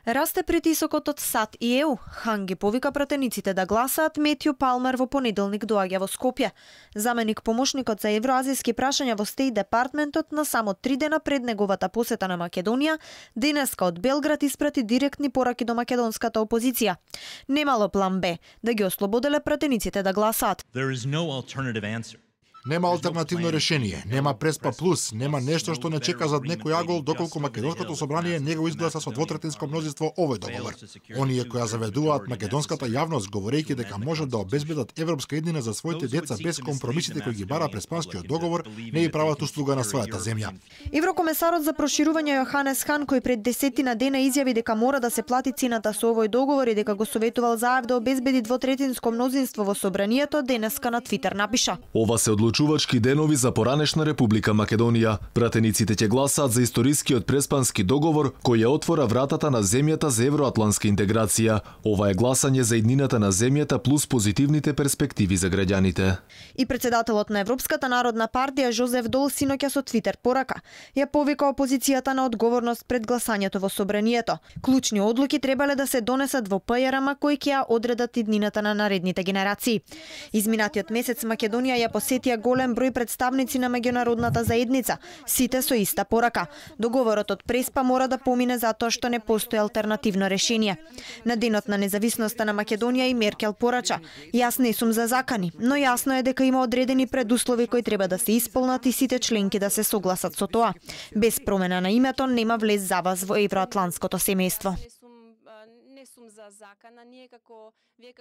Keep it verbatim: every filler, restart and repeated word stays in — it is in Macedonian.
Расте притисокот од САД и ЕУ. Хан ги повика пратениците да гласаат, Метју Палмер во понеделник доаѓа во Скопје. Заменик помошникот за евроазиски прашања во Стејт департментот на само три дена пред неговата посета на Македонија, денеска од Белград испрати директни пораки до македонската опозиција. Немало план Б, да ги ослободеле пратениците да гласаат. Нема алтернативно решение, нема Преспа плюс, нема нешто што не чека зад некој агол доколку македонското собрание не го изгласа со двотретинско мнозинство овој договор. Оние кои ја заведуваат македонската јавност говорејќи дека можат да обезбедат европска еднина за своите деца без компромисите кои ги бара Преспанскиот договор, не и прават услуга на својата земја. Еврокомесарот за проширување Јоханес Хан, кој пред десетина дена изјави дека мора да се плати цената со овој договор и дека го советувал Заев да обезбеди двотретинско мнозинство во собранието, денеска на Твитер напиша: Ова се одлучувачки денови за поранешна Република Македонија. Пратениците ќе гласаат за историскиот Преспански договор кој ја отвора вратата на земјата за евроатлантска интеграција. Ова е гласање за иднината на земјата плюс позитивните перспективи за граѓаните. И председателот на Европската народна партија Жозеф Дол синоќа со Твитер порака ја повика опозицијата на одговорност пред гласањето во собранието. Клучни одлуки требале да се донесат во ПЈРМ кои ќе ја одредат иднината на наредните генерации. Изминатиот месец Македонија ја посетија голем број представници на меѓународната заедница, сите со иста порака. Договорот од Преспа мора да помине затоа што не постои алтернативно решение. На денот на независноста на Македонија и Меркел порача: Јас не сум за закани, но јасно е дека има одредени предуслови кои треба да се исполнат и сите членки да се согласат со тоа. Без промена на името нема влез за вас во евроатлантското семејство. Не сум за закана, ние како вие како